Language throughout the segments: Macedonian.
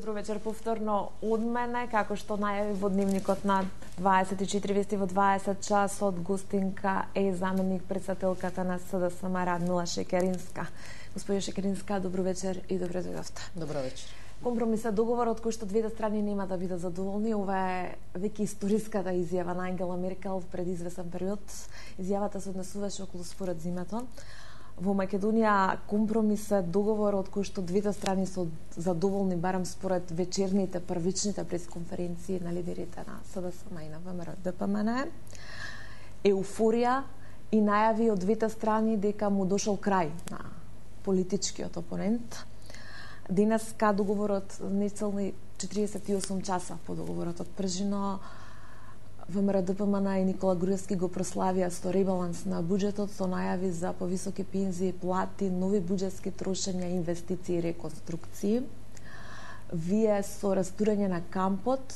Добро вечер повторно од мене, како што најави во дневникот на 24 вести во 20 часот, гостинка е заменик председателката на СДСМ Радмила Шекеринска. Господја Шекеринска, добро вечер и добре дојдовте. Добро вечер. Компромисен договор од кој што двете страни нема да бидат задоволни. Ова е веќе историската изјава на Ангела Меркел пред извесен период. Изјавата се однесуваше околу споразумето. Во Македонија компромисен договор од кој што двете страни се задоволни, барем според вечерните првичните пресконференции на лидерите на СДСМ и на ВМРО-ДПМН, еуфорија и најави од двете страни дека му дошол крај на политичкиот опонент. Денеска договорот нецелни 48 часа по договорот од Пржино, ВМРО-ДПМН и Никола Груевски го прославија со ребаланс на буџетот, со најави за повисоки пензии, плати, нови буџетски трошења, инвестиции и реконструкции. Вие со растурање на кампот,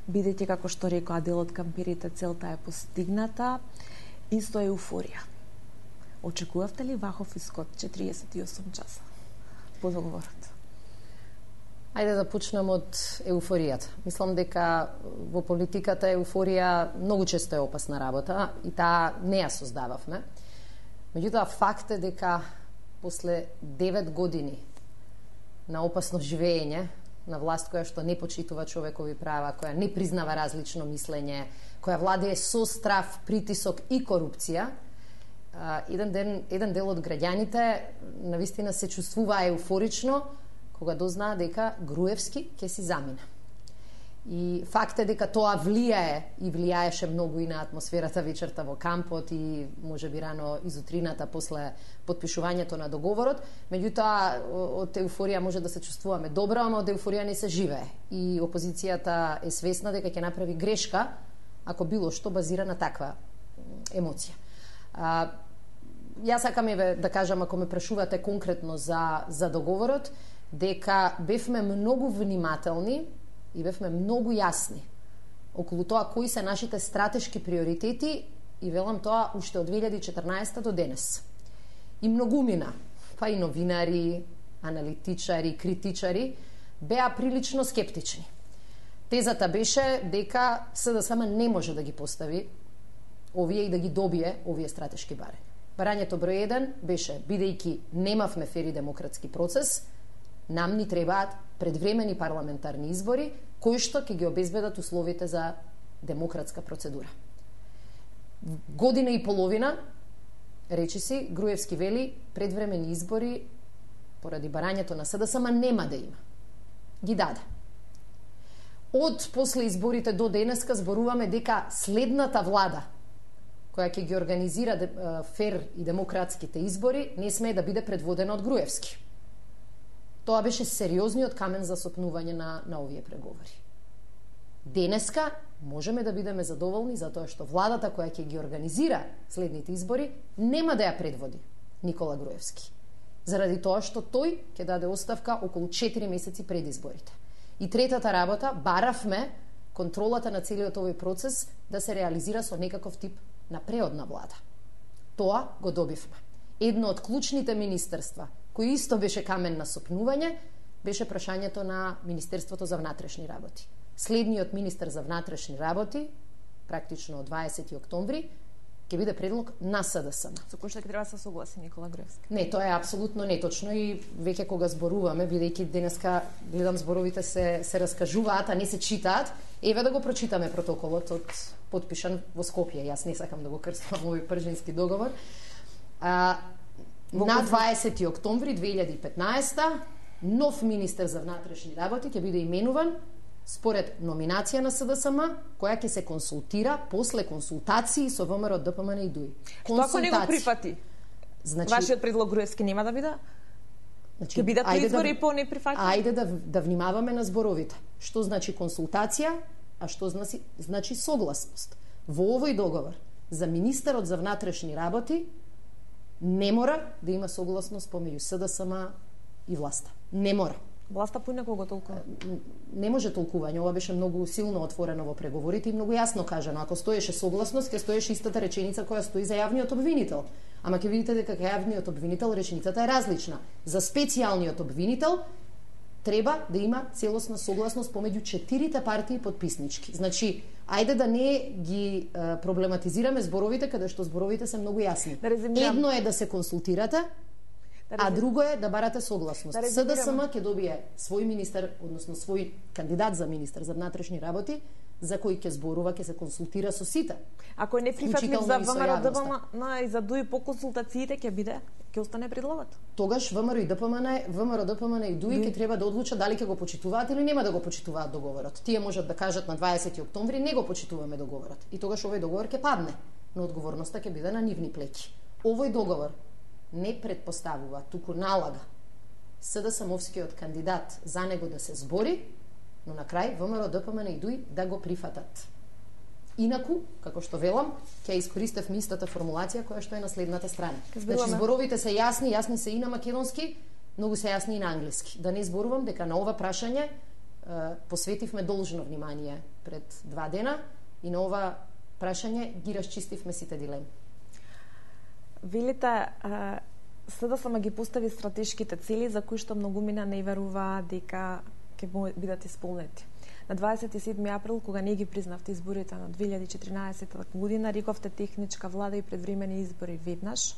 бидејќи, како што рекоа, дел од кампирите целта е постигната, и со еуфорија. Очекувавте ли ваков исход 48 часа по договорот? Ајде да почнем од еуфоријата. Мислам дека во политиката еуфорија многу често е опасна работа и таа не ја создававме. Меѓутоа, факт е дека после 9 години на опасно живење, на власт која што не почитува човекови права, која не признава различно мислење, која владее со страв, притисок и корупција, еден дел од граѓаните навистина се чувствува еуфорично кога дознаа дека Груевски ќе си замине. И факт е дека тоа влијаеше многу и на атмосферата вечерта во кампот и можеби рано изутрината после потпишувањето на договорот. Меѓутоа, од еуфорија може да се чувствуваме добро, ама од еуфорија не се живее. И опозицијата е свесна дека ќе направи грешка ако било што базира на таква емоција. Јас сакам да кажам, ако ме прашувате конкретно за договорот, дека бевме многу внимателни и бевме многу јасни околу тоа кои се нашите стратешки приоритети и велам тоа уште од 2014 до денес. И многумина, па и новинари, аналитичари, критичари беа прилично скептични. Тезата беше дека СДСМ не може да ги постави овие и да ги добие овие стратешки барања. Барањето број 1 беше, бидејќи немавме фер и демократски процес, нам ни требаат предвремени парламентарни избори, кои што ќе ги обезбедат условите за демократска процедура. Година и половина, речиси, Груевски вели, предвремени избори поради барањето на СДСМ нема да има. Ги даде. Од после изборите до денеска зборуваме дека следната влада, која ќе ги организира фер и демократските избори, не смее да биде предводена од Груевски. Тоа беше сериозниот камен за сопнување на овие преговори. Денеска можеме да бидеме задоволни затоа што владата која ќе ги организира следните избори нема да ја предводи Никола Груевски. Заради тоа што тој ќе даде оставка околу 4 месеци пред изборите. И третата работа, баравме контролата на целиот овој процес да се реализира со некаков тип на преодна влада. Тоа го добивме. Едно од клучните министерства кој исто беше камен на сопнување, беше прашањето на Министерството за внатрешни работи. Следниот министер за внатрешни работи, практично од 20 октомври, ќе биде предлог на СДСМ. Со кој што ќе треба да се согласи Никола Груевски? Не, тоа е апсолутно неточно и веќе кога зборуваме, бидејќи денеска гледам зборовите се раскажуваат, а не се читаат, еве да го прочитаме протоколот од потпишан во Скопје. Јас не сакам да го крстувам овој пржински договор. На 20 октомври 2015 нов министер за внатрешни работи ќе биде именуван според номинација на СДСМ, која ќе се консултира после консултации со ВМРО, ДПМН и ДУИ. Што ако не го прифати? Значи, вашиот предлог Груевски нема да биде? Ќе бидат избори по неприфаќање? Ајде да внимаваме на зборовите. Што значи консултација, а што значи согласност. Во овој договор за министерот за внатрешни работи не мора да има согласност помеѓу СДСМ и власта. Не мора. Власта поинаку го толкува? Не може толкување. Ова беше многу силно отворено во преговорите и многу јасно кажано. Ако стоеше согласност, ќе стоеше истата реченица која стои за јавниот обвинител. Ама ќе видите дека кај јавниот обвинител реченицата е различна. За специјалниот обвинител треба да има целосна согласност помеѓу 4 партии подписнички. Значи, ајде да не ги проблематизираме зборовите, каде што зборовите се многу јасни. Едно е да се консултирате, а друго е да барате согласност. СДСМ ќе добие свој министер, односно свој кандидат за министер за внатрешни работи, за кој ќе зборува, ќе се консултира со сите. Ако не прифатлив за ВМРО ДПМН и за ДУИ по консултациите ќе биде, ќе остане предлогот. Тогаш ВМРО ДПМН и ДУИ ќе треба да одлучат дали ќе го почитуваат или нема да го почитуваат договорот. Тие можат да кажат на 20 октомври не го почитуваме договорот. И тогаш овој договор ќе падне, но одговорноста ќе биде на нивни плеќи. Овој договор не предпоставува, туку налага СДСМовскиот кандидат за него да се збори, но на крај ВМРО ДПМН и ДУИ да го прифатат. Инаку, како што велам, ќе искористев истата формулација која што е на следната страна. Значи зборовите се јасни се и на македонски, многу се јасни и на англиски. Да не зборувам дека на ова прашање посветивме должно внимание пред 2 дена и на ова прашање ги расчистивме сите дилеми. Велите, СДСМ ги постави стратешките цели за кои што многумина не верува дека ќе бидат исполнети. На 27 април, кога не ги признавте изборите на 2014 година, рековте техничка влада и предвремени избори веднаш.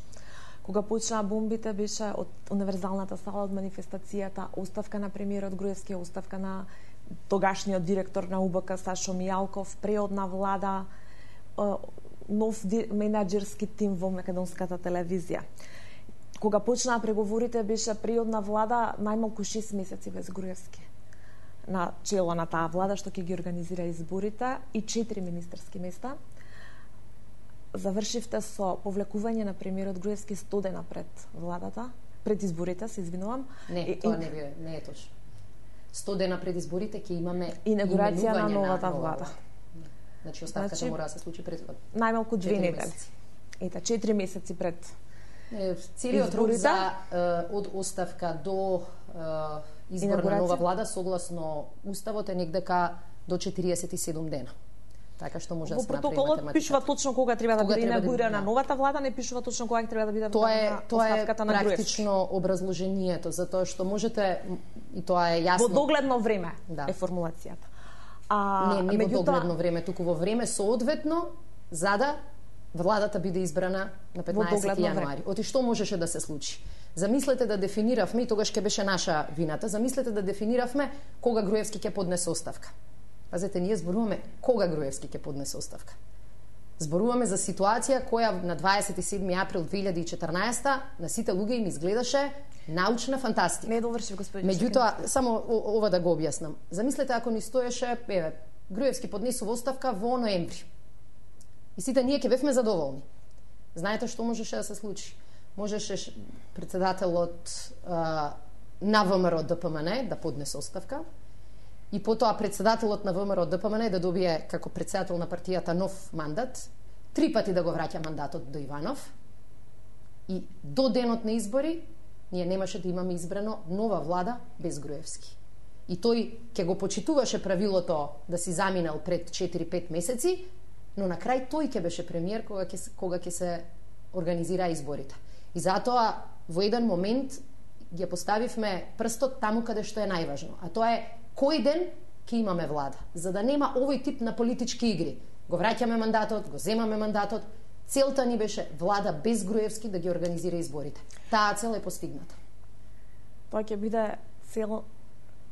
Кога почнаа бомбите, беше од универзалната сала, од манифестацијата, оставка на премиерот Груевски, оставка на тогашниот директор на УБК Сашо Мијалков, преодна влада, нов менаџерски тим во македонската телевизија. Кога почнаа преговорите, беше преодна влада најмалку 6 месеци без Груевски на чело на таа влада што ќе ги организира изборите и 4 министерски места. Завршивте со повлекување на премиерот Груевски 100 дена пред владата, пред изборите, се извинувам. Не, тоа не е точно. 100 дена пред изборите ќе имаме инаугурација на новата влада. Значи оставката мора да се случи предходно. Најмалку 2 недели. Ета 4 месеци пред. Целиот рок за од оставка до избор на нова влада согласно уставот е негдека до 47 дена. Така што може да се направи математиката. Во протоколот пишува точно кога треба да биде инаугурирана новата влада, не пишува точно кога треба да биде оставката на Груевски. Тоа е практично образложението, затоа што можете, и тоа е јасно. Во догледно време е формулацијата. Не во догледно време, туку во време соодветно за да владата биде избрана на 15 јануари. Оти што можеше да се случи? Замислете да дефиниравме, и тогаш ќе беше наша вината, замислете да дефиниравме кога Груевски ќе поднесе оставка. Пазете, ние зборуваме кога Груевски ќе поднесе оставка. Зборуваме за ситуација која на 27 април 2014 на сите луѓе им изгледаше научна фантастика. Не доврши, господин. Меѓутоа, само ова да го објаснам. Замислете ако ни стоеше, Груевски поднесува оставка во ноември. И сите ние ќе бевме задоволни. Знаете што можеше да се случи? Можеше председателот на ВМРО ДПМН да поднесе оставка и потоа председателот на ВМРО ДПМН да добие како председател на партијата нов мандат, 3 пати да го враќа мандатот до Иванов и до денот на избори ние немаше да имаме избрано нова влада без Груевски. И тој ќе го почитуваше правилото да си заминал пред 4-5 месеци, но на крај тој ќе беше премиер кога ќе се организира изборите. И затоа во еден момент ги поставивме прстот таму каде што е најважно, а тоа е кој ден ќе имаме влада, за да нема овој тип на политички игри. Го враќаме мандатот, го земаме мандатот. Целта ни беше влада без Груевски да ги организира изборите. Таа цел е постигната. Тоа ќе биде цел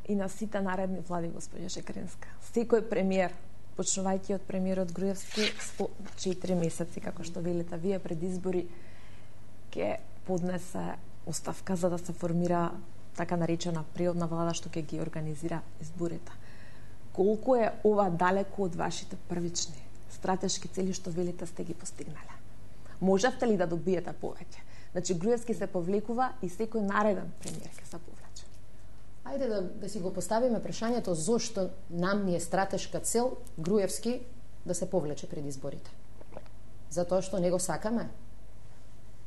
и на сите наредни влади, господја Шекеринска. Секој премиер, почнувајќи од премиерот Груевски, 4 месеци, како што велите вие, пред избори, ќе поднесе оставка за да се формира така наречена приодна влада што ќе ги организира изборите. Колку е ова далеко од вашите првични стратешки цели што велите сте ги постигнале? Можевте ли да добиете повеќе? Значи Груевски се повлекува и секој нареден премиер ќе се повлече. Ајде да си го поставиме прашањето зошто нам ни е стратешка цел Груевски да се повлече пред изборите. Затоа што не го сакаме?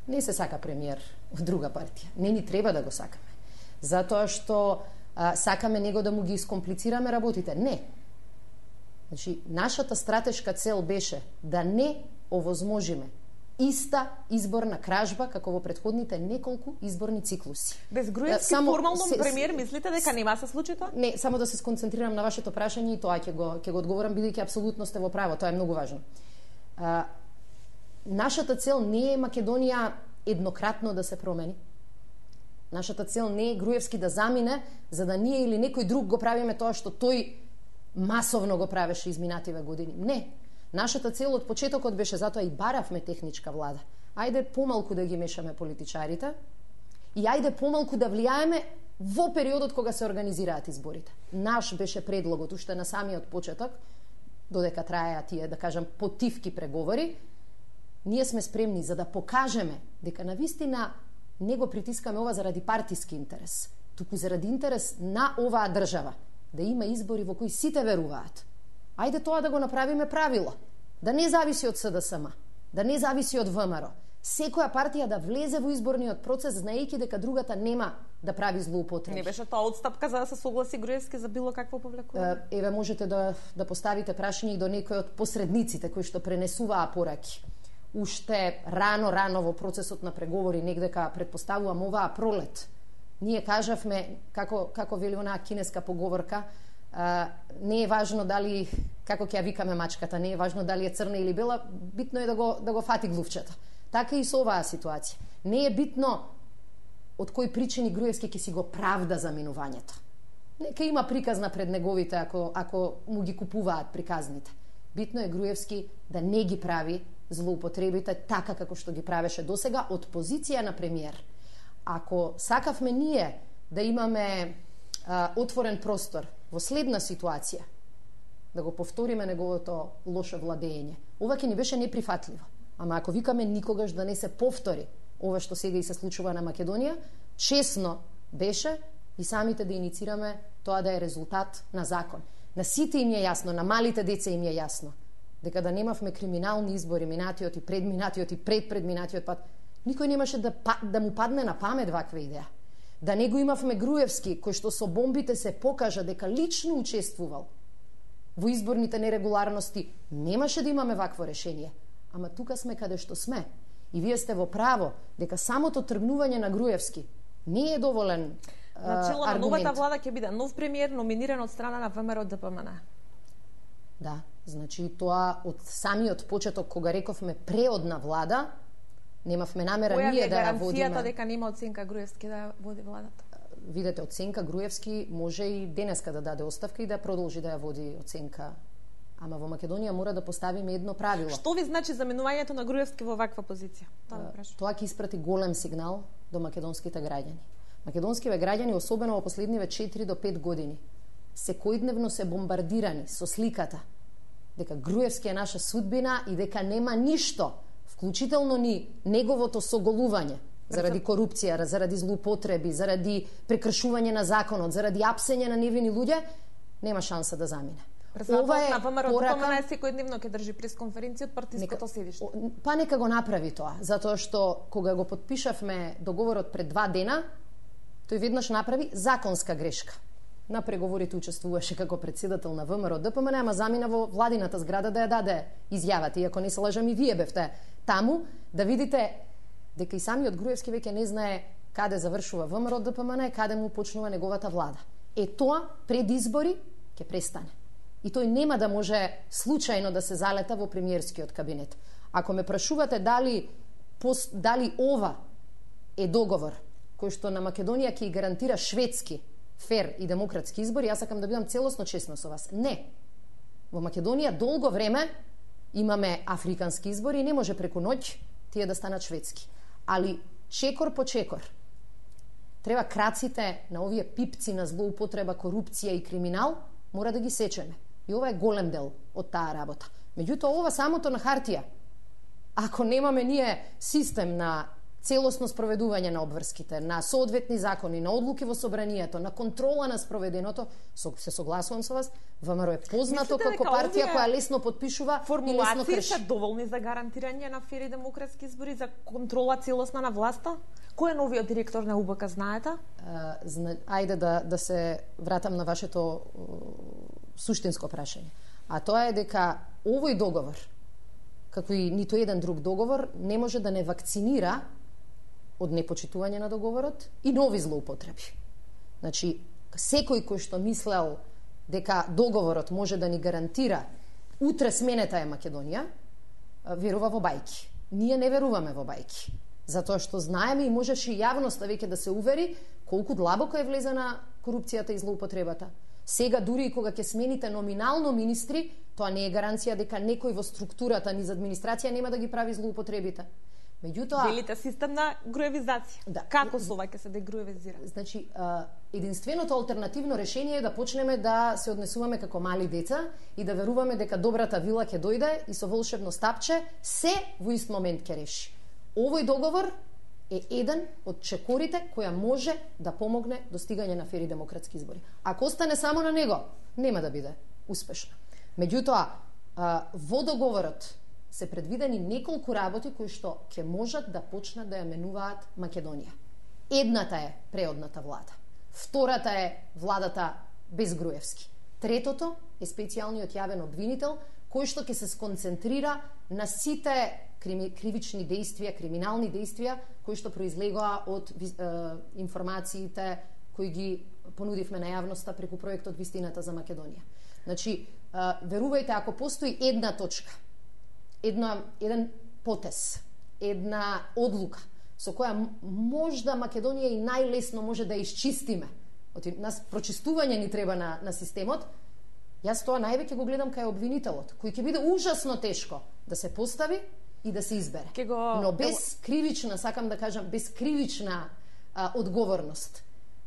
Не се сака премиер од друга партија. Не ни треба да го сакаме. Затоа што сакаме него да му ги искомплицираме работите. Не. Значи, нашата стратешка цел беше да не овозможиме иста изборна кражба како во претходните неколку изборни циклуси. Без Груевски формално премиер мислите дека нема се случи тоа? Не, само да се сконцентрирам на вашето прашање и тоа ќе го одговорам бидејќи апсолутно сте во право, тоа е многу важно. Нашата цел не е Македонија еднократно да се промени. Нашата цел не е Груевски да замине, за да ние или некој друг го правиме тоа што тој масовно го правеше изминативе години. Не. Нашата цел од почетокот беше, затоа и баравме техничка влада. Ајде помалку да ги мешаме политичарите и ајде помалку да влијаеме во периодот кога се организираат изборите. Наш беше предлогот уште на самиот почеток, додека траеа тие, да кажам, потивки преговори, ние сме спремни за да покажеме дека навистина не го притискаме ова заради партиски интерес, туку заради интерес на оваа држава, да има избори во кои сите веруваат. Ајде тоа да го направиме правило, да не зависи од СДСМ, да не зависи од ВМРО. Секоја партија да влезе во изборниот процес знаејќи дека другата нема да прави злоупотреби. Не беше тоа отстапка за да се согласи Груевски за било какво повлекување? Еве можете да поставите прашање и до некој од посредниците кои што пренесуваа пораки. Уште рано во процесот на преговори, негдека предпоставувам оваа пролет, ние кажавме, како вели онаа кинеска поговорка, не е важно дали, како ќе ја викаме мачката, не е важно дали е црна или бела, битно е да го фати глувчето. Така и со оваа ситуација. Не е битно од кои причини Груевски ќе си го правда за минувањето. Нека има приказна пред неговите ако му ги купуваат приказните. Битно е Груевски да не ги прави злоупотребите така како што ги правеше досега од позиција на премиер. Ако сакавме ние да имаме отворен простор во следна ситуација, да го повториме неговото лошо владење, ова ќе ни беше неприфатливо. Ама ако викаме никогаш да не се повтори ова што сега и се случува на Македонија, чесно беше и самите да иницираме тоа да е резултат на закон. На сите им е јасно, на малите деца им е јасно, дека да немавме криминални избори минатиот и предминатиот и предпредминатиот пат, никој немаше да му падне на памет ваква идеја. Да не го имавме Груевски, кој што со бомбите се покажа дека лично учествувал во изборните нерегуларности, немаше да имаме вакво решение. Ама тука сме каде што сме. И вие сте во право дека самото тргнување на Груевски не е доволен начело на аргумент. новата влада ќе биде нов премиер номиниран од страна на ВМРО ДПМН. Да, значи тоа од самиот почеток кога рековме преодна влада, немавме намера ние да ја водиме. Која е гаранцијата дека нема оценка Груевски да ја води владата? Видете, оценка Груевски може и денеска да даде оставка и да продолжи да ја води оценка. Ама во Македонија мора да поставиме едно правило. Што ви значи заменувањето на Груевски во ваква позиција? Тоа ќе испрати голем сигнал до македонските граѓани. Македонските граѓани, особено во последниве 4 до 5 години, секојдневно се бомбардирани со сликата дека Груевски е наша судбина и дека нема ништо, вклучително ни неговото соголување заради корупција, заради злоупотреби, заради прекршување на законот, заради апсење на невини луѓе, нема шанса да замине. Ова е порака, секојдневно ќе држи пресконференција од партиското седиште. Па нека го направи тоа, затоа што кога го подпишавме договорот пред 2 дена, тој веднаш направи законска грешка. На преговорите учествуваше како претседател на ВМРО ДПМН, ама замина во владината зграда да ја даде изјавата, иако не се лажам и вие бевте таму, да видите дека и самиот Груевски веќе не знае каде завршува ВМРО ДПМН и каде му почнува неговата влада. Тоа пред избори ќе престане. И тој нема да може случајно да се залета во премиерскиот кабинет. Ако ме прашувате дали ова е договор кој што на Македонија ќе гарантира шведски, фер и демократски избори, јас сакам да бидам целосно честна со вас. Не. Во Македонија долго време имаме африкански избори и не може преку ноќ тие да станат шведски. Али чекор по чекор треба краците на овие пипци на злоупотреба, корупција и криминал мора да ги сечеме. И ова е голем дел од таа работа. Меѓутоа, ова самото на хартија. Ако немаме ние систем на целосно спроведување на обврските, на соодветни закони, на одлуки во собранието, на контрола на спроведеното, се согласувам со вас, ВМРО е познато како партија која лесно подпишува и лесно крши. Формулации се доволни за гарантирање на фери демократски избори, за контрола целосна на власта? Кој е новиот директор на УБК, знаете? Ајде да се вратам на вашето суштинско прашање. А тоа е дека овој договор како и ниту еден друг договор, не може да не вакцинира од непочитување на договорот и нови злоупотреби. Значи, секој кој што мислел дека договорот може да ни гарантира утре сменета е Македонија, верува во бајки. Ние не веруваме во бајки. Затоа што знаеме и можеше јавноста веќе да се увери колку длабоко е влезена корупцијата и злоупотребата. Сега дури и кога ќе смените номинално министри, тоа не е гаранција дека некој во структурата низ администрација нема да ги прави злоупотребите. Меѓутоа, велите систем на груевизација. Да. Како сова ќе се дегруевизира? Значи, единственото алтернативно решение е да почнеме да се однесуваме како мали деца и да веруваме дека добрата вила ќе дојде и со волшебно стапче се во ист момент ќе реши. Овој договор е еден од чекорите која може да помогне достигање на фери демократски избори. Ако остане само на него, нема да биде успешно. Меѓутоа, во договорот се предвидени неколку работи кои што ќе можат да почнат да ја менуваат Македонија. Едната е преодната влада. Втората е владата без Груевски. Третото е специјалниот јавен обвинител кој што ќе се сконцентрира на сите кривични действија, криминални действија кои што произлегоа од информациите кои ги понудивме на јавноста преку проектот Вистината за Македонија. Значи, верувајте, ако постои една точка, еден потез, една одлука со која можда Македонија и најлесно може да исчистиме. Нас прочистување ни треба на системот. Јас тоа највеќе го гледам кај обвинителот, кој ќе биде ужасно тешко да се постави и да се избере. Но без кривична, сакам да кажам, без кривична одговорност.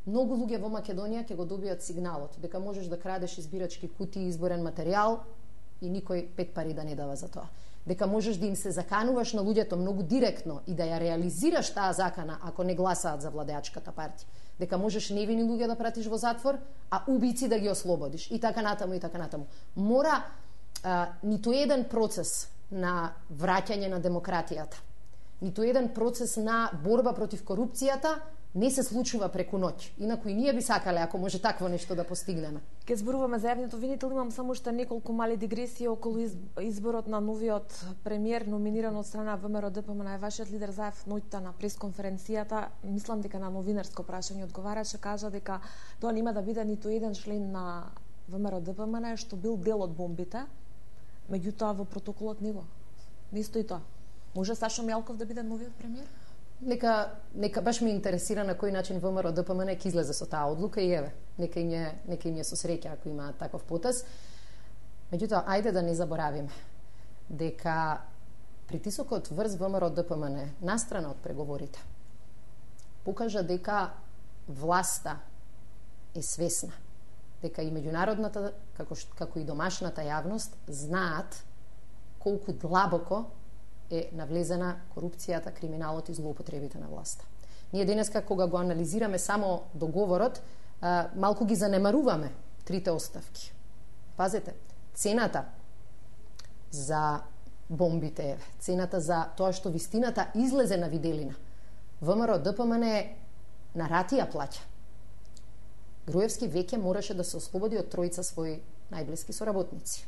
Многу луѓе во Македонија ќе го добијат сигналот дека можеш да крадеш избирачки кутии, изборен материјал и никој 5 пари да не дава за тоа. Дека можеш да им се закануваш на луѓето многу директно и да ја реализираш таа закана ако не гласаат за владеачката партија. Дека можеш невини луѓе да пратиш во затвор, а убици да ги ослободиш. И така натаму, и така натаму. Мора ниту еден процес на враќање на демократијата, ниту еден процес на борба против корупцијата не се случува преку ноќ. Инаку и ние би сакале ако може такво нешто да постигнеме. Ке зборуваме за јавниот обвинител, имам само уште неколку мали дигресии околу изборот на новиот премиер номиниран од страна ВМРО ДПМН. Вашиот лидер Заев ноќта на пресконференцијата, мислам дека на новинарско прашање одговараше, кажа дека тоа нема да биде ниту еден член на ВМРО ДПМН што бил дел од бомбите, меѓутоа во протоколот него не стои тоа. Може Сашо Мјалков да биде новиот премиер? Нека баш ме интересира на кој начин ВМРО ДПМН ќе излезе со таа одлука и еве, нека им е со среќа ако има таков потез. Меѓутоа, ајде да не заборавиме дека притисокот врз ВМРО ДПМН настрана од преговорите покажа дека власта е свесна, дека и меѓународната, како и домашната јавност знаат колку длабоко е навлезена корупцијата, криминалот и злоупотребите на власта. Ние денеска, кога го анализираме само договорот, малку ги занемаруваме трите оставки. Пазете, цената за бомбите, цената за тоа што вистината излезе на виделина. ВМРО ДПМН на ратија плаќа. Груевски веќе мораше да се ослободи од тројца своји најблиски соработници.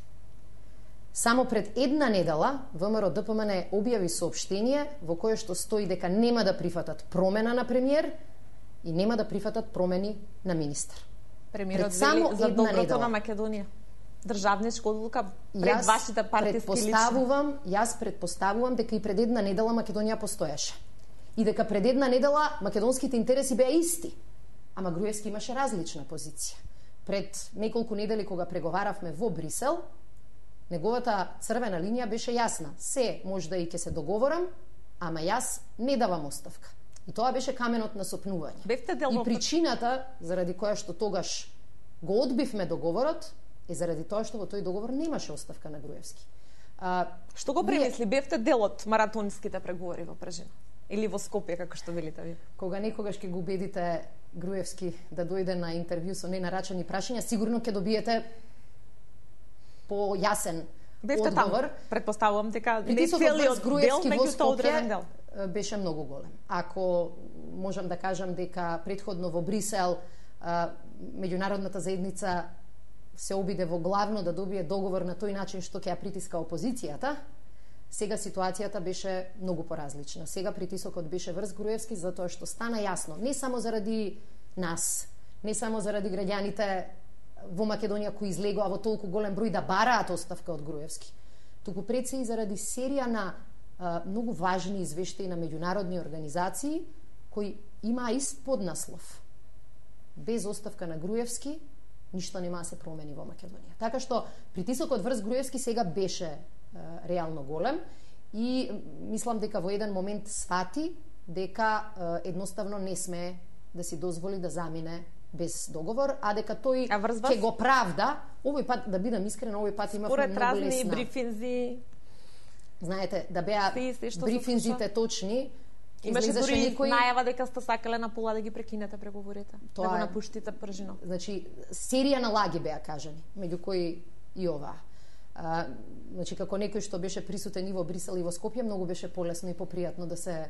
Само пред една недела ВМРО ДПМН објави соопштение во кое што стои дека нема да прифатат промена на премиер и нема да прифатат промени на министар. Премиерот вели за доброто на Македонија. Државничка одлука пред вашите партиски лични. Јас предпоставувам дека и пред една недела Македонија постоеше. И дека пред една недела македонските интереси беа исти. Ама Груевски имаше различна позиција. Пред неколку недели кога преговаравме во Брисел, неговата црвена линија беше јасна. Се може да и ќе се договорам, ама јас не давам оставка. И тоа беше каменот на сопнување. И причината заради која што тогаш го одбивме договорот е заради тоа што во тој договор немаше оставка на Груевски. Што го премисли? Бевте дел од маратонските преговори во Прежина? Или во Скопје, како што велите ви? Кога некогаш ќе го убедите Груевски да дојде на интервју со ненарачани прашања, сигурно ќе добиете појасен одговор. Предпоставувам дека не целиот дел, меѓутоа одреден дел беше многу голем. Ако можам да кажам дека претходно во Брисел меѓународната заедница се обиде во главно да добие договор на тој начин што ќе ја притиска опозицијата, Сега ситуацијата беше многу поразлична. Сега притисокот беше врз Груевски затоа што стана јасно, не само заради нас, не само заради граѓаните во Македонија кои излегоа во толку голем број да бараат оставка од Груевски, туку пред се и заради серија на многу важни извештаи на меѓународни организации кои имаа ист поднаслов. Без оставка на Груевски ништо нема да се промени во Македонија. Така што притисокот врз Груевски сега беше реално голем и мислам дека во еден момент свати дека едноставно не сме да си дозволи да замине без договор, а дека тој ќе го правда. Овој пат, да бидам искрена, овој пат имавме многу лесна. Според разни брифинзи, знаете, да беа брифинзите точни, имаше дури најава дека сте сакале на пола да ги прекинете преговорите, да го напуштите пржино. Значи, серија на лаги беа кажани, меѓу кои и ова. Значи, како некој што беше присутен и во Брисел и во Скопје, многу беше полесно и попријатно да се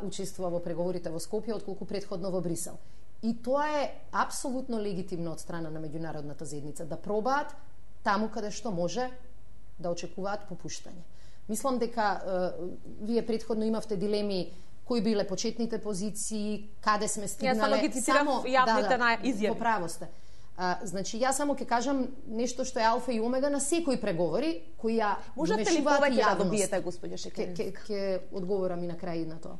учествува во преговорите во Скопје отколку претходно во Брисел. И тоа е апсолутно легитимно од страна на меѓународната заедница да пробаат таму каде што може да очекуваат попуштање. Мислам дека вие претходно имавте дилеми кои биле почетните позиции, каде сме стигнале. Ја само ги цитирав јавните на изјави. Поправо сте. Значи, јас само ќе кажам нешто што е алфа и омега на секои преговори кои ја можете ли повеќе да добиете, господје Шекерински? Ќе одговорам и на крај на тоа.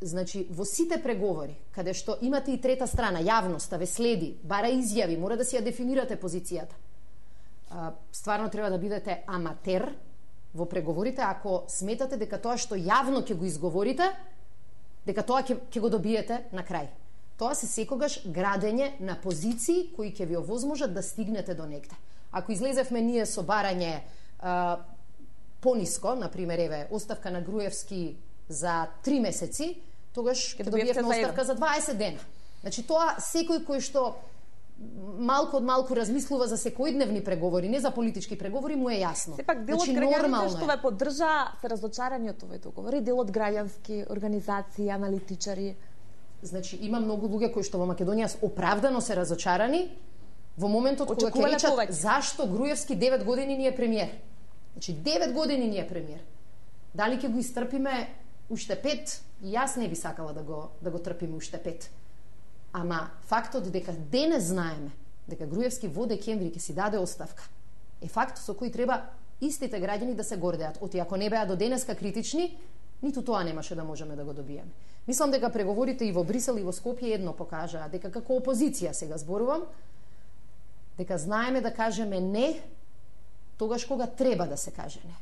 Значи, во сите преговори, каде што имате и трета страна, јавноста ве следи, бара изјави, мора да си ја дефинирате позицијата. Стварно треба да бидете аматер во преговорите ако сметате дека тоа што јавно ќе го изговорите, дека тоа ќе го добиете на крај. Тоа се секогаш градење на позиции кои ќе ви овозможат да стигнете до негде. Ако излезевме ние со барање пониско, например, еве, оставка на Груевски за 3 месеци, тогаш ќе добиевме оставка за 20 дена. Значи, тоа секој кој што малку од малку размислува за секојдневни преговори, не за политички преговори, му е јасно. Сепак дел од граѓаните што ве поддржа се разочарани од овој договор и дел од граѓански организации, аналитичари. Значи, има многу луѓе кои што во Македонија оправдано се разочарани во моментот кога ќе речат зашто Груевски 9 години не е премиер. Значи, 9 години не е премиер. Дали ќе го истрпиме уште 5? И јас не би сакала да го трпиме уште 5. Ама фактот дека денес знаеме дека Груевски во декември ќе си даде оставка е факт со кој треба истите граѓани да се гордеат. Оти ако не беа до денеска критични, ниту тоа немаше да можеме да го добиеме. Мислам дека преговорите и во Брисел и во Скопје едно покажаа, дека како опозиција сега зборувам, дека знаеме да кажеме не тогаш кога треба да се каже не.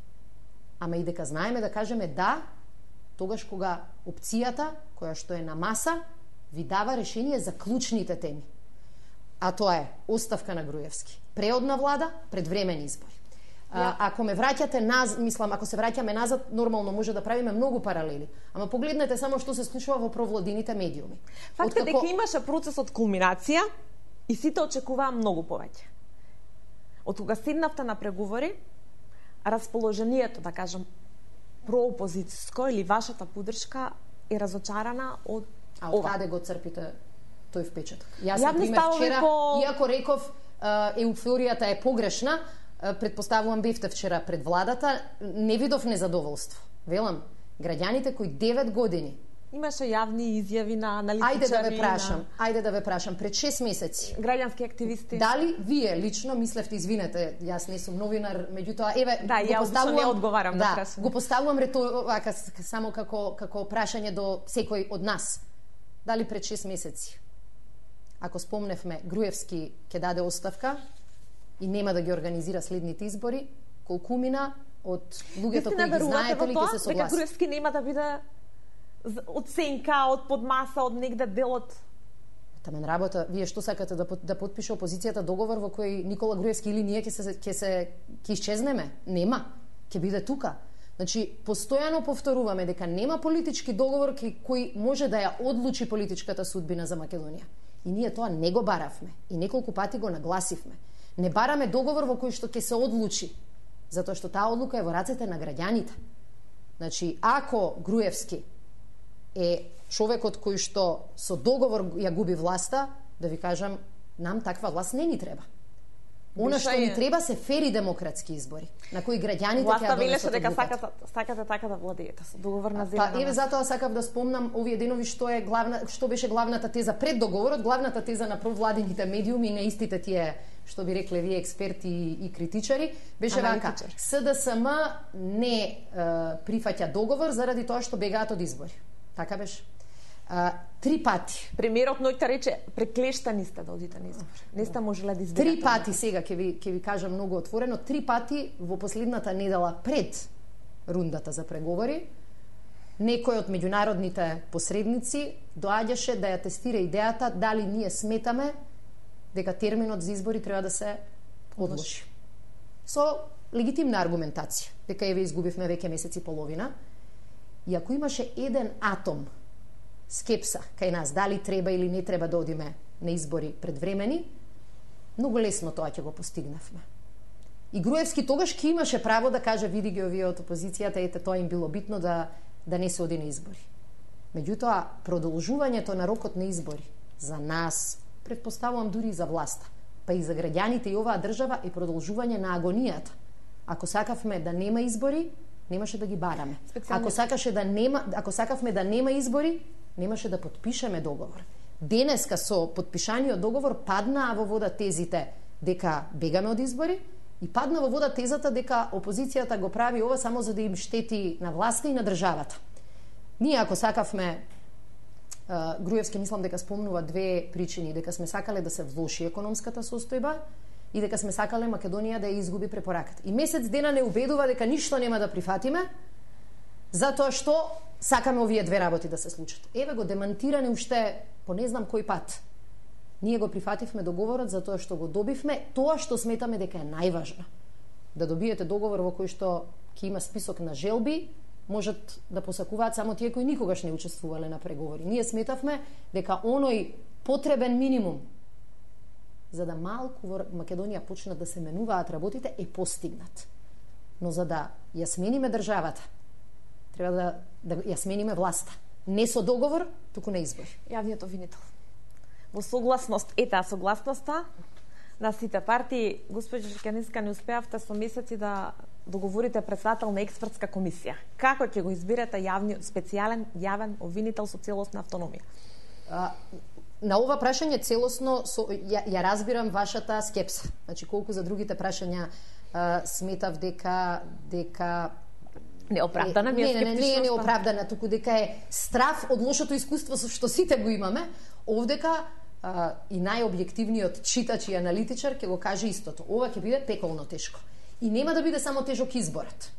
Ама и дека знаеме да кажеме да тогаш кога опцијата која што е на маса ви дава решение за клучните теми. А тоа е оставка на Груевски, преодна влада, предвремени избори. Ако ме враќате мислам, ако се враќаме назад, нормално може да правиме многу паралели. Ама погледнете само што се случува во провладините медиуми. Фактот дека имаше процес од кулминација и сите очекуваа многу повеќе. Од кога седнавте на преговори, расположението, да кажам, проопозицијско или вашата поддршка е разочарана од А од каде го црпите тој впечаток? Јас, например, вчера, иако реков еуфоријата е погрешна, предпоставувам бевте вчера пред владата, не видов незадоволство. Велам, граѓаните кои 9 години имаше јавни изјави на аналитичари. Ајде да ве прашам, пред 6 месеци. Граѓански активисти. Дали вие лично мислевте, извинете, јас не сум новинар, меѓутоа еве да, го поставувам, не одговарам на прашање. Го поставувам само како прашање до секој од нас. Дали пред 6 месеци, ако спомневме, Груевски ќе даде оставка и нема да ги организира следните избори, колку мина од луѓето кои ги знаете ли ќе се согласат? Дека Груевски нема да биде оценка од подмаса, од негде дел од... Тамен работа, вие што сакате да потпише опозицијата договор во кој Никола Груевски или ние ќе исчезнеме? Нема, ќе биде тука. Значи, постојано повторуваме дека нема политички договор кој може да ја одлучи политичката судбина за Македонија. И ние тоа не го баравме. И неколку пати го нагласивме. Не бараме договор во кој што ќе се одлучи. Затоа што таа одлука е во рацете на граѓаните. Значи, ако Груевски е човекот кој што со договор ја губи власта, да ви кажам, нам таква власт не ни треба. Она што ни треба се фери демократски избори, на кои граѓаните ќе ја велеше дека сакате така да владеете со договор на зелена. Па еве затоа сакав да спомнам овие денови што беше главната теза пред договорот, главната теза на провладените медиуми и на истите тие што би рекле вие експерти и критичари, беше вака: СДСМ не прифаќа договор заради тоа што бегаат од избори. Така беше. 3 пати. Премиерот ноќта рече преклештани сте да одите на избори. Не сте можеле да изберете. 3 пати сега ќе ви кажам многу отворено, 3 пати во последната недела пред рундата за преговори некој од меѓународните посредници доаѓаше да ја тестира идејата дали ние сметаме дека терминот за избори треба да се одложи. Со легитимна аргументација, дека еве изгубивме веќе месец и половина. И ако имаше еден атом скепса кај нас, дали треба или не треба да одиме на избори предвремени, многу лесно тоа ќе го постигнавме. И Груевски тогаш ќе имаше право да каже: види ги овие од опозицијата, ете тоа им било битно да не се оди на избори. Меѓутоа, продолжувањето на рокот на избори за нас, предпоставувам дури и за власта, па и за граѓаните и оваа држава, е продолжување на агонијата. Ако сакавме да нема избори, немаше да ги бараме. Ако сакавме да нема избори, немаше да подпишеме договор. Денеска со подпишаниот договор падна во вода тезите дека бегаме од избори и падна во вода тезата дека опозицијата го прави ова само за да им штети на власта и на државата. Ние ако сакавме, Груевски мислам дека спомнува 2 причини: дека сме сакале да се влоши економската состојба и дека сме сакале Македонија да ја изгуби препораката. И месец дена не убедува дека ништо нема да прифатиме, затоа што сакаме овие 2 работи да се случат. Еве го демантиране уште по не знам кој пат. Ние го прифативме договорот затоа што го добивме тоа што сметаме дека е најважно. Да добиете договор во кој што ќе има список на желби, можат да посакуваат само тие кои никогаш не учествувале на преговори. Ние сметавме дека оној потребен минимум за да малку во Македонија почнат да се менуваат работите е постигнат. Но за да ја смениме државата, треба да ја смениме власта. Не со договор, туку на избори. Јавниот обвинител. Во согласност, согласноста на сите партии, госпоѓа Шекеринска, не успеавте со месеци да договорите председател на експертска комисија. Како ќе го изберете специјален јавен обвинител со целосна автономија? На ова прашање целосно ја разбирам вашата скепса. Значи, колку за другите прашања сметав дека неоправдана, не е неоправдана, туку дека е страв од лошото искуство со што сите го имаме. Овдека и најобјективниот читач и аналитичар ќе го каже истото. Ова ќе биде пеколно тешко. И нема да биде само тежок изборот.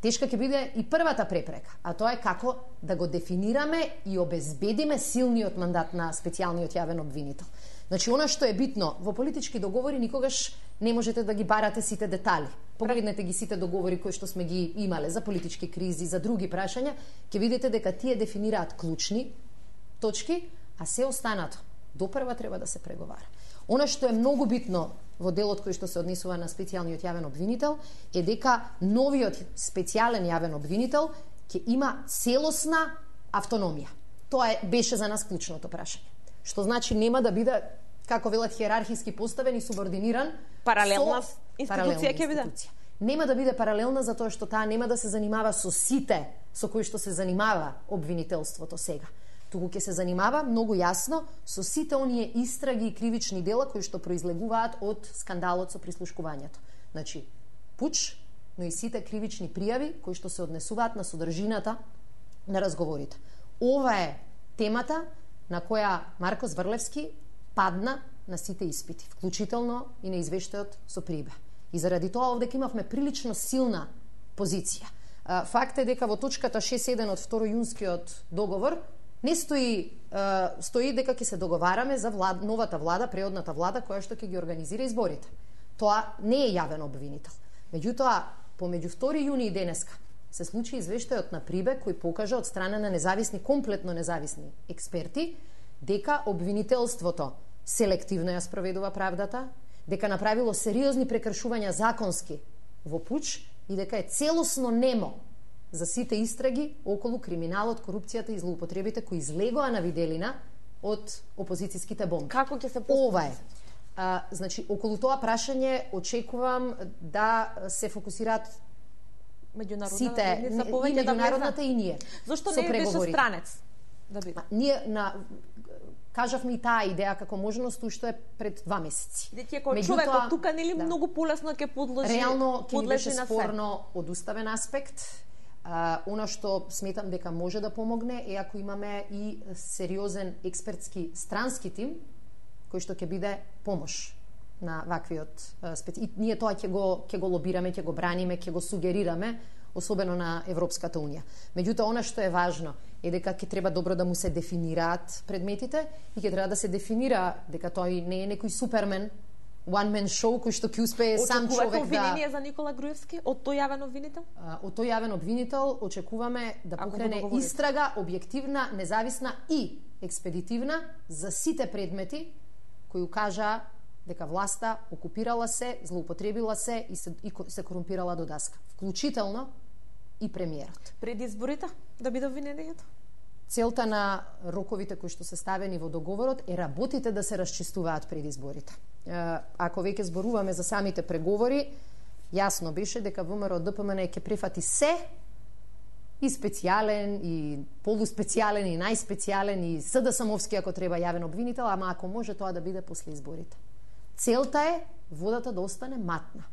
Тешка ќе биде и првата препрека, а тоа е како да го дефинираме и обезбедиме силниот мандат на специјалниот јавен обвинител. Значи, она што е битно, во политички договори никогаш не можете да ги барате сите детали. Погледнете ги сите договори кои што сме ги имале за политички кризи, за други прашања, ќе видите дека тие дефинираат клучни точки, а се останато допрва треба да се преговара. Она што е многу битно во делот кој што се однесува на специјалниот јавен обвинител е дека новиот специјален јавен обвинител ќе има целосна автономија. Тоа беше за нас клучното прашање. Што значи нема да биде, како велат, хиерархиски поставен и субординиран. Паралелна институција ќе биде. Нема да биде паралелна затоа што таа нема да се занимава со сите со кои што се занимава обвинителството сега. Туку ќе се занимава многу јасно со сите оние истраги и кривични дела кои што произлегуваат од скандалот со прислушкувањето. Значи, пуч, но и сите кривични пријави кои што се однесуваат на содржината на разговорите. Ова е темата на која Марко Зврлевски падна на сите испити, вклучително и на извештајот со Прибе. И заради тоа овдека имавме прилично силна позиција. Факт е дека во точката 6.1 од 2 јунскиот договор не стои дека ќе се договараме за новата влада, преодната влада која што ќе ги организира изборите. Тоа не е јавен обвинител. Меѓутоа, помеѓу 2 јуни и денеска се случи извештајот на Прибе кој покажа од страна на независни, комплетно независни експерти дека обвинителството селективно ја спроведува правдата, дека направило сериозни прекршувања законски во пуч и дека е целосно немо за сите истраги околу криминалот, корупцијата и злоупотребите кои излегоа на виделина од опозицијските бомби. Како ќе се Ова е. Значи, околу тоа прашање очекувам да се фокусираат меѓународната и меѓународната и ние. Зошто не беше странец да биде? Ние кажавме и таа идеја како можност уште пред 2 месеци. Дека кој човек од тука нели многу полесно ќе подлежи. Реално ќе беше спорно од уставен аспект. Она што сметам дека може да помогне е ако имаме и сериозен експертски странски тим кој што ќе биде помош на ваквиот и ние тоа ќе го лобираме, ќе го браниме, ќе го сугерираме, особено на Европската унија. Меѓутоа, она што е важно е дека ќе треба добро да му се дефинираат предметите и ќе треба да се дефинира дека тој не е некој супермен, one man show кој што ќе успее сам човек да... Очекувате обвинение за Никола Груевски од тој јавен обвинител? Од тој јавен обвинител очекуваме да покрене истрага, објективна, независна и експедитивна за сите предмети кои укажаа дека власта окупирала се, злоупотребила се и се корумпирала до даска, вклучително и премиерот. Пред изборите да биде обвинението? Целта на роковите кои што се ставени во договорот е работите да се расчистуваат пред изборите. Ако веќе зборуваме за самите преговори, јасно беше дека ВМРО ДПМН ќе прифати се и специјален, и полуспецијален, и најспецијален, и СДСМовски ако треба јавен обвинител, ама ако може тоа да биде после изборите. Целта е водата да остане матна.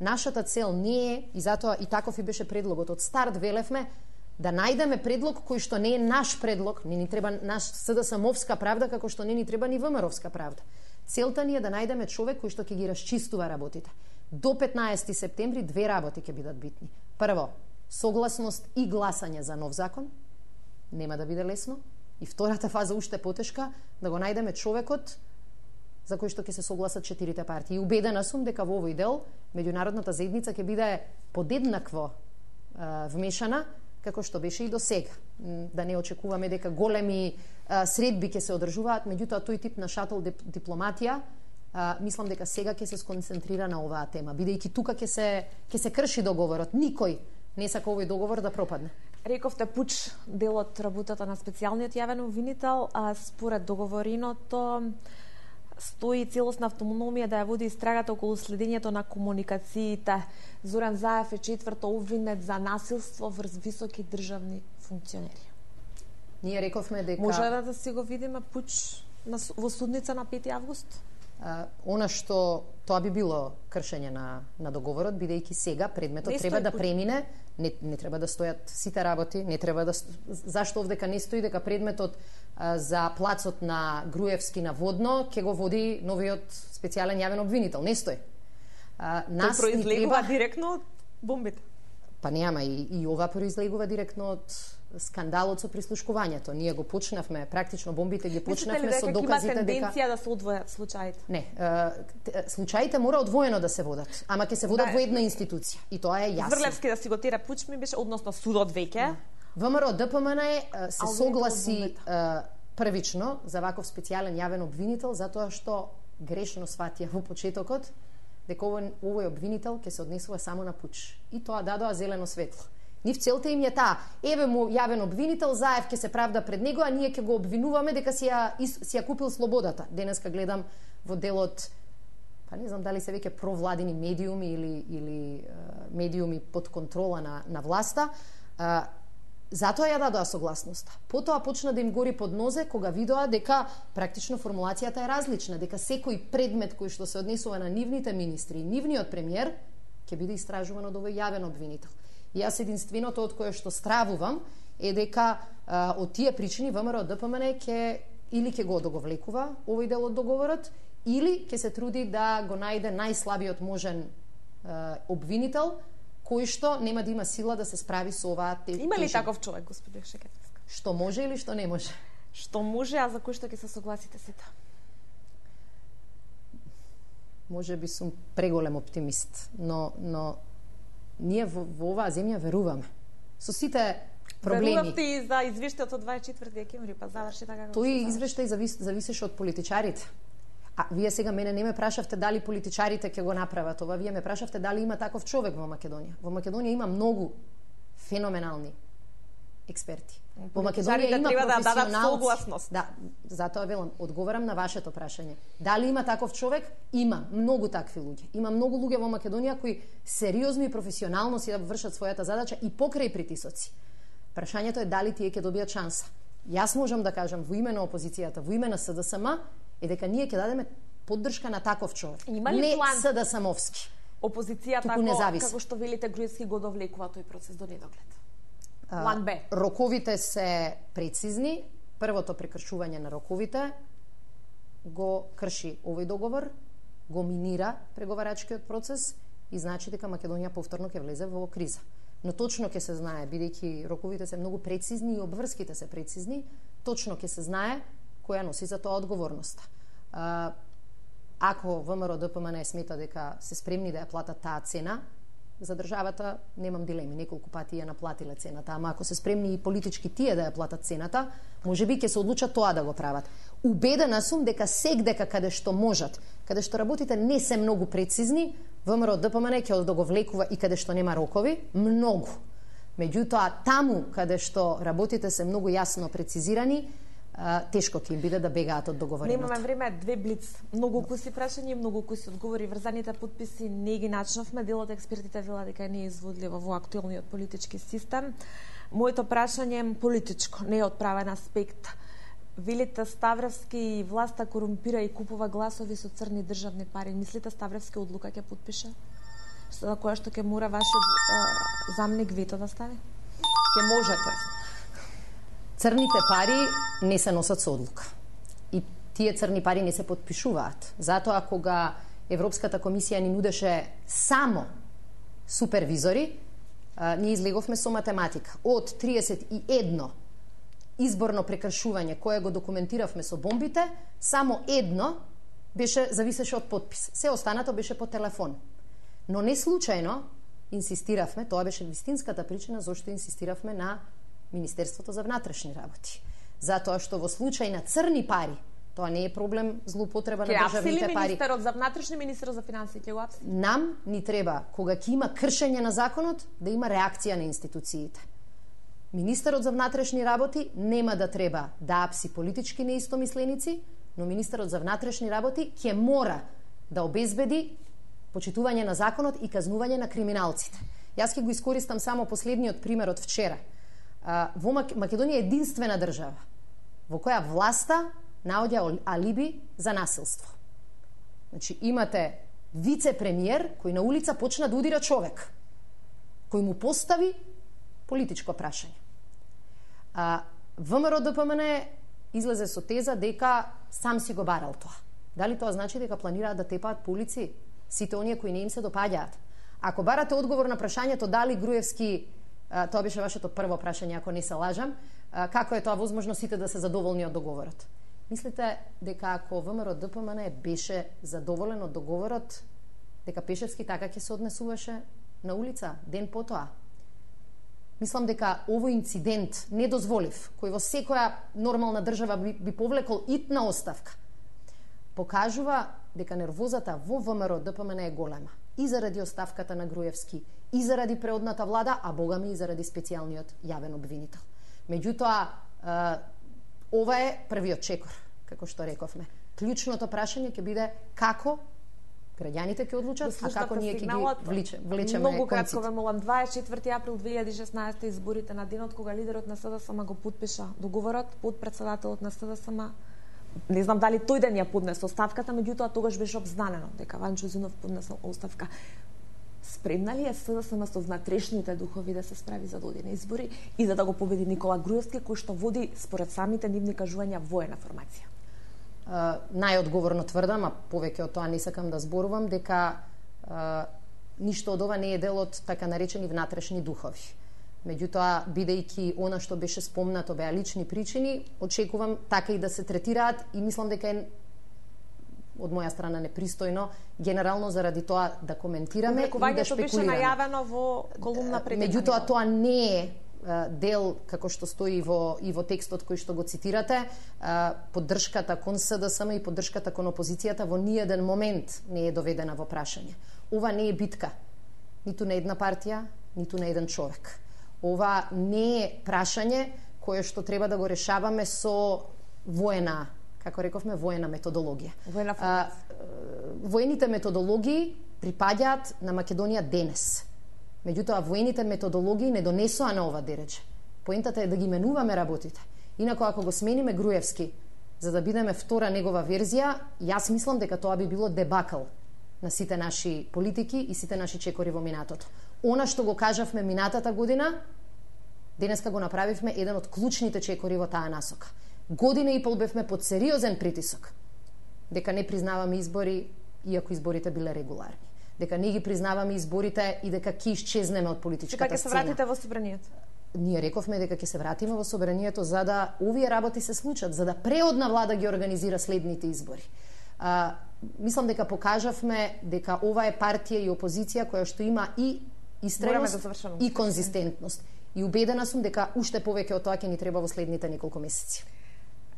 Нашата цел не е, и затоа и таков и беше предлогот, од старт велевме, да најдеме предлог кој што не е наш предлог, не ни треба наш СДСМовска правда, како што не ни треба ни ВМРО-вска правда. Целта ни е да најдеме човек кој што ќе ги расчистува работите. До 15 септември 2 работи ќе бидат битни. Прво, согласност и гласање за нов закон, нема да биде лесно. И втората фаза уште потешка, да го најдеме човекот за кој што ќе се согласат 4 партии. И убедена сум дека во овој дел меѓународната заедница ќе биде подеднакво вмешана како што беше и до сега. Да не очекуваме дека големи средби ќе се одржуваат, меѓутоа тој тип на шатл дипломатија мислам дека сега ќе се сконцентрира на оваа тема, бидејќи тука ќе се крши договорот. Никој не сака овој договор да пропадне. Рековте пуч дел од работата на специјалниот јавен обвинител, според договореното стои целосна автономија да ја води истрагата околу следењето на комуникациите. Зоран Заев е 4-то обвинет за насилство врз високи државни функционери. Ние рековме дека... Може да си го видиме пуч во судница на 5 август? Она што тоа би било кршење на договорот, бидејќи сега предметот треба да премине, не треба да стојат сите работи, не треба да... Зашто овдека не стои дека предметот за плацот на Груевски на Водно ќе го води новиот специјален јавен обвинител? Не стои. Тој произлегува директно од бомбите. Па нема, и ова произлегува директно од скандалот со прислушкувањето. Ние го почнавме, практично бомбите ги почнавме со доказите дека... Мислите ли дека има тенденција да се одвојат случаите? Не, случаите мора одвоено да се водат, ама ќе се водат во една институција. И тоа е јасно. Врлевски да си го тера пуч ми беше, односно судот веќе. ВМРО ДПМН се согласи првично за ваков специјален јавен обвинител, затоа што грешно сватија во почетокот дека овој обвинител ќе се однесува само на пуч. И тоа дадоа зелено светло. Нив целта им е таа, еве му јавен обвинител, Заев ќе се правда пред него, а ние ќе го обвинуваме дека си ја купил слободата. Денеска гледам во делот, па не знам дали се веќе провладини медиуми или медиуми под контрола на власта, затоа ја дадоа согласноста. Потоа почна да им гори под нозе кога видоа дека практично формулацијата е различна, дека секој предмет кој што се однесува на нивните министри и нивниот премиер ќе биде истражуван од овој јавен обвинител. И јас единственото од кое што стравувам е дека од тие причини ВМРО ДПМН или ќе го одоговлекува овој дел од договорот, или ќе се труди да го најде најслабиот можен обвинител кој што нема да има сила да се справи со оваа тежина. Има ли таков човек, господи Шекетовска? Што може или што не може? Што може, а за кој што ќе се согласите сите? Може би сум преголем оптимист, но ние во оваа земја веруваме. Со сите проблеми. Верувавте и за извештајот од 24 декември, па заврши така како... Тој извештај зависеше од политичарите. А вие сега мене не ме прашавте дали политичарите ќе го направат ова, вие ме прашавте дали има таков човек во Македонија. Во Македонија има многу феноменални експерти. Во Македонија има треба да дадат професионалци. согласност. Да, затоа велам, одговарам на вашето прашање. Дали има таков човек? Има многу такви луѓе. Има многу луѓе во Македонија кои сериозно и професионално си да вршат својата задача и покрај притисоци. Прашањето е дали тие ќе добијат шанса. Јас можам да кажам во име на опозицијата, во име на СДСМ, е дека ние ќе дадеме поддршка на таков човек. Не СДСМовски. Опозицијата како што велите Груевски го довлекува тој процес до недоглед. План Б. Роковите се прецизни. Првото прекршување на роковите го крши овој договор, го минира преговарачкиот процес и значи дека Македонија повторно ќе влезе во криза. Но точно ќе се знае, бидејќи роковите се многу прецизни и обврските се прецизни, точно ќе се знае која носи за тоа одговорноста. Ако ВМРО ДПМН смета дека се спремни да ја платат таа цена, за државата немам дилеми, неколку пати ја наплатиле цената, ама ако се спремни и политички тие да ја платат цената, можеби ќе се одлучат тоа да го прават. Убедена сум дека сегдека каде што можат, каде што работите не се многу прецизни, ВМРО ДПМН ќе да го влекува и каде што нема рокови, многу. Меѓутоа, таму каде што работите се многу јасно прецизирани, тешко ќе им биде да бегаат од договореното. Немаме време, две блиц. Многу куси прашања, многу куси одговори. Врзаните подписи не ги начнавме. Дел од експертите вела дека не е изводливо во актуелниот политички систем. Моето прашање е политичко, не е од правен аспект. Велите Ставревски власта корумпира и купува гласови со црни државни пари. Мислите Ставревски одлука ќе подпише? За која што ќе мора вашиот заменик вето да стави? Ќе можете. Црните пари не се носат со одлука. И тие црни пари не се подпишуваат. Затоа кога Европската комисија ни нудеше само супервизори, ние излеговме со математика. Од 31 изборно прекршување кое го документиравме со бомбите, само едно зависеше од подпис. Се останато беше по телефон. Но не случајно инсистиравме, тоа беше вистинската причина зашто инсистиравме на Министерството за внатрешни работи. Затоа што во случај на црни пари, тоа не е проблем злоупотреба на државните пари. Министерот за внатрешни, министерот за финансии ќе го апсили? Нам ни треба, кога ќе има кршење на законот, да има реакција на институциите. Министерот за внатрешни работи нема да треба да апси политички неистомисленици, но министерот за внатрешни работи ќе мора да обезбеди почитување на законот и казнување на криминалците. Јас ќе го искористам само последниот пример од вчера. Во Македонија е единствена држава во која власта наоѓа алиби за насилство. Значи, имате вице-премиер кој на улица почна да удира човек, кој му постави политичко прашање. ВМРО ДПМН излезе со теза дека сам си го барал тоа. Дали тоа значи дека планираат да тепаат по улици сите оние кои не им се допаѓаат? Ако барате одговор на прашањето дали Груевски, тоа беше вашето прво прашање, ако не се лажам, како е тоа возможно сите да се задоволни од договорот? Мислите дека ако ВМРО ДПМН беше задоволен од договорот, дека Пешевски така ќе се однесуваше на улица ден потоа? Мислам дека овој инцидент недозволив, кој во секоја нормална држава би повлекол итна оставка, покажува дека нервозата во ВМРО ДПМН е голема. И заради оставката на Груевски, и заради преодната влада, а богами и заради специјалниот јавен обвинител. Меѓутоа, ова е првиот чекор, како што рековме. Клучното прашање ќе биде како граѓаните ќе одлучат, а како ние ќе ги влечеме. Многу кратко ве молам, 24 април 2016 изборите на денот кога лидерот на СДСМ го подпиша договорот, подпредседателот на СДСМ, не знам дали тој ден ја поднесе оставката, меѓутоа тогаш беше обзнанено дека Ванчо Узунов поднесол оставка. Спремна ли е СДСМ со внатрешните духови да се справи за додени избори и за да го победи Никола Груевски, кој што води според самите нивни кажувања воена формација? Најодговорно тврдам, а повеќе од тоа не сакам да зборувам, дека ништо од ова не е дел од така наречени внатрешни духови. Меѓутоа, бидејќи она што беше спомнато беа лични причини, очекувам така и да се третираат и мислам дека е од моја страна непристојно генерално заради тоа да коментираме и да шпекулираме. Беше најавено во колумна пред. Меѓутоа, тоа не е дел, како што стои и во текстот кој што го цитирате, поддршката кон СДСМ и поддршката кон опозицијата во ниеден момент не е доведена во прашање. Ова не е битка ниту на една партија, ниту на еден човек. Ова не е прашање кое што треба да го решаваме со воена, како рековме, воена методологија. Воените методологии припаѓаат на Македонија денес. Меѓутоа, воените методологии не донесоа на ова дереже. Поентата е да ги менуваме работите. Инако, ако го смениме Груевски, за да бидеме втора негова верзија, јас мислам дека тоа би било дебакл на сите наши политики и сите наши чекори во минатото. Она што го кажавме минатата година, денеска го направивме еден од клучните чекори во таа насока. Година и пол бевме под сериозен притисок дека не признаваме избори, иако изборите биле регуларни. Дека не ги признаваме изборите и дека ќе исчезнеме од политичката сцена. Дека ќе се вратите во собранието? Ние рековме дека ќе се вратиме во собранието за да овие работи се случат, за да преодна влада ги организира следните избори. Мислам дека покажавме дека ова е партија и опозиција која што има и истреност и конзистентност. И убедена сум дека уште повеќе од тоа ќе ни треба во следните неколку месеци.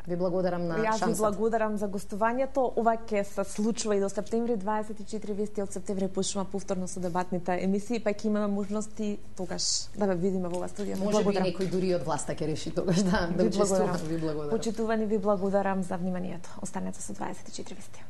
Ви благодарам на шансата. Јас ви благодарам за гостувањето. Ова ќе се случува и до септември 24 вести од септември почнува повторно со дебатните емисии, па ќе имаме можности тогаш да ве видиме во оваа студија. Може би некој дури од власта ќе реши тогаш да учествува. Ви благодарам. Почитувани, ви благодарам за вниманието. Останете со 24 вести.